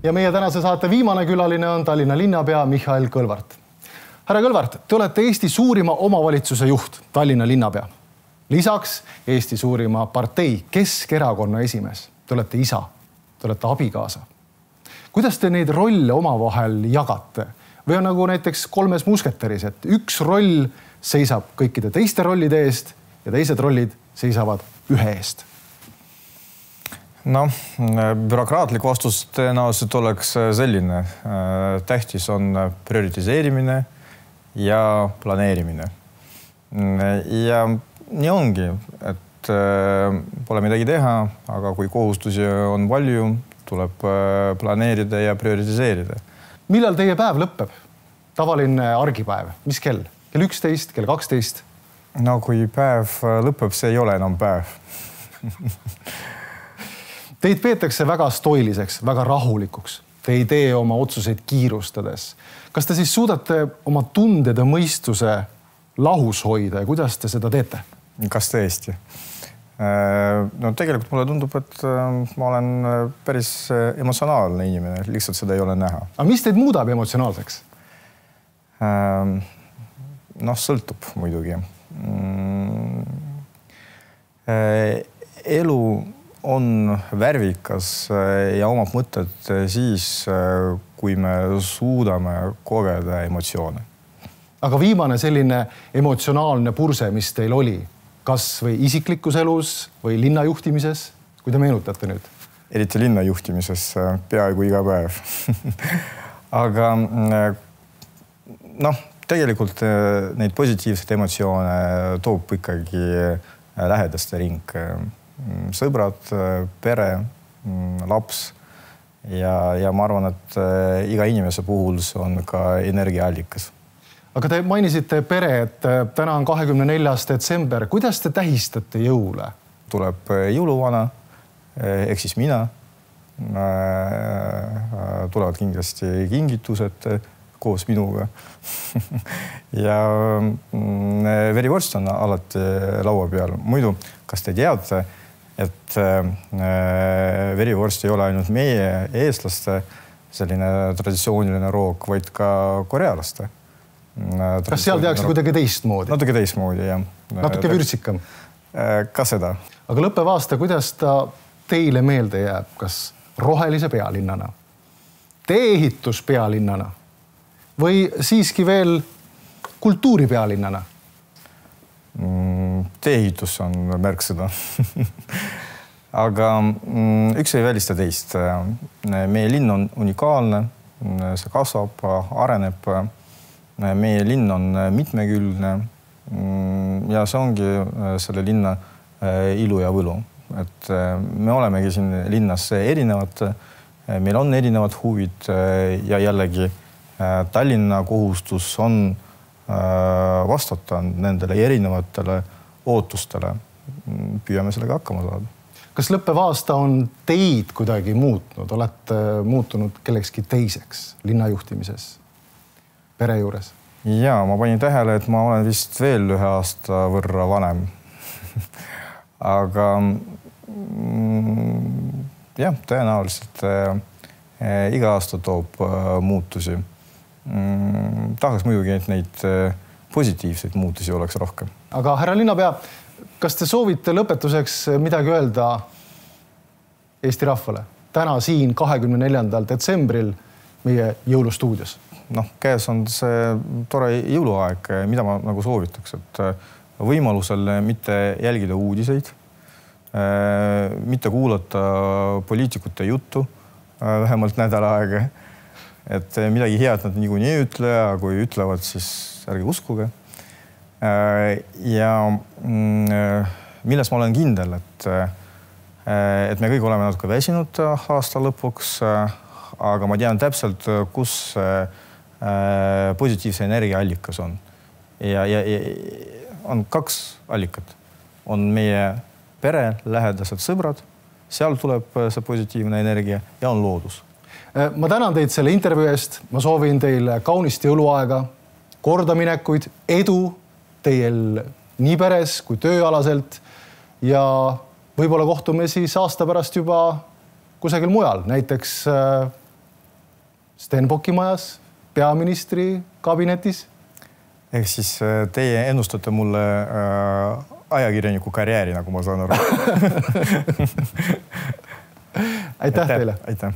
Ja meie tänase saate viimane külaline on Tallinna linnapea Mihhail Kõlvart. Härra Kõlvart, te olete Eesti suurima omavalitsuse juht, Tallinna linnapea. Lisaks Eesti suurima partei Keskerakonna esimees. Te olete isa, te olete abikaasa. Kuidas te neid rolle omavahel jagate? Või on nagu näiteks kolmes musketeris, et üks roll seisab kõikide teiste rollide eest ja teised rollid seisavad ühe eest? No, bürokraatlik vastus tõenäoliselt oleks selline. Tähtis on prioritiseerimine ja planeerimine. Ja nii ongi, et pole midagi teha, aga kui kohustusi on palju, tuleb planeerida ja prioritiseerida. Millal teie päev lõpeb? Tavaline argipäev. Mis kell? Kell 11, kell 12? No kui päev lõpeb, see ei ole enam päev. Teid peetakse väga stoiliseks, väga rahulikuks. Te ei tee oma otsuseid kiirustades. Kas te siis suudate oma tunded ja mõistuse lahus hoida ja kuidas te seda teete? Kas tõesti? No tegelikult mulle tundub, et ma olen päris emotsionaalne inimene, lihtsalt seda ei ole näha. Aga mis teid muudab emotsionaalseks? No, sõltub muidugi. Elu on värvikas ja omab mõtted siis, kui me suudame kogeda emotsioone. Aga viimane selline emotsionaalne purse, mis teil oli, kas või isiklikus elus või linnajuhtimises, kui te meenutate nüüd? Eriti linnajuhtimises peaaegu iga päev. Aga tegelikult neid positiivseid emotsioone toob ikkagi lähedaste ring. Sõbrad, pere, laps ja ma arvan, et iga inimese puhul see on ka energiaallikas. Aga te mainisite pere, et täna on 24. detsember. Kuidas te tähistate jõule? Tuleb jõuluvana, ehk siis mina. Tulevad kindlasti kingitused koos minuga. Ja verivorst on alati laua peal. Muidu, kas te teate, et verivorst ei ole ainult meie eestlaste selline traditsiooniline roog, vaid ka korealaste. Kas seal tehakse kuidagi teistmoodi? Natuke teistmoodi, jah. Natuke vürtsikam? Ka seda. Aga lõppev aasta, kuidas ta teile meelde jääb? Kas rohelise pealinnana? Tee-ehitus pealinnana? Või siiski veel kultuuri pealinnana? Tee-ehitus on märksõna. Aga üks ei välista teist. Meie linn on unikaalne, see kasvab, areneb. Meie linn on mitmekülgne ja see ongi selle linna ilu ja võlu. Et me olemegi siin linnas erinevad, meil on erinevad huvid ja jällegi Tallinna kohustus on vastata nendele erinevatele ootustele. Püüame sellega hakkama saada. Kas lõppev aasta on teid kuidagi muutnud? Olete muutunud kellekski teiseks linnajuhtimises, pere juures? Jaa, ma panin tähele, et ma olen vist veel ühe aasta võrra vanem. Aga jah, tõenäoliselt iga aasta toob muutusi. Tahaks muidugi, et neid positiivseid muutusi oleks rohkem. Aga härra linnapea, kas te soovite lõpetuseks midagi öelda Eesti rahvale? Täna siin 24. detsembril meie jõulustuudios. Käes on see tore jõuluaeg, mida ma nagu soovitaks, et võimalusel mitte jälgida uudiseid, mitte kuulata poliitikute juttu vähemalt nädal aega. Et midagi head nad niikuinii ei ütle, aga kui ütlevad, siis ärge uskuge. Ja milles ma olen kindel, et me kõik oleme natuke väsinud aasta lõpuks, aga ma tean täpselt, kus positiivse energiaallikas on. Ja on kaks allikat. On meie pere, lähedased sõbrad, seal tuleb see positiivne energia ja on loodus. Ma tänan teid selle intervjuu eest. Ma soovin teile kaunist jõuluaega, kordaminekuid, edu teil nii peres kui tööalaselt ja võib-olla kohtume siis aasta pärast juba kusagil mujal, näiteks Stenbocki majas, peaministri kabinetis? Ehk siis teie ennustate mulle ajakirjaniku karjääri, nagu ma saan aru. Aitäh teile! Aitäh!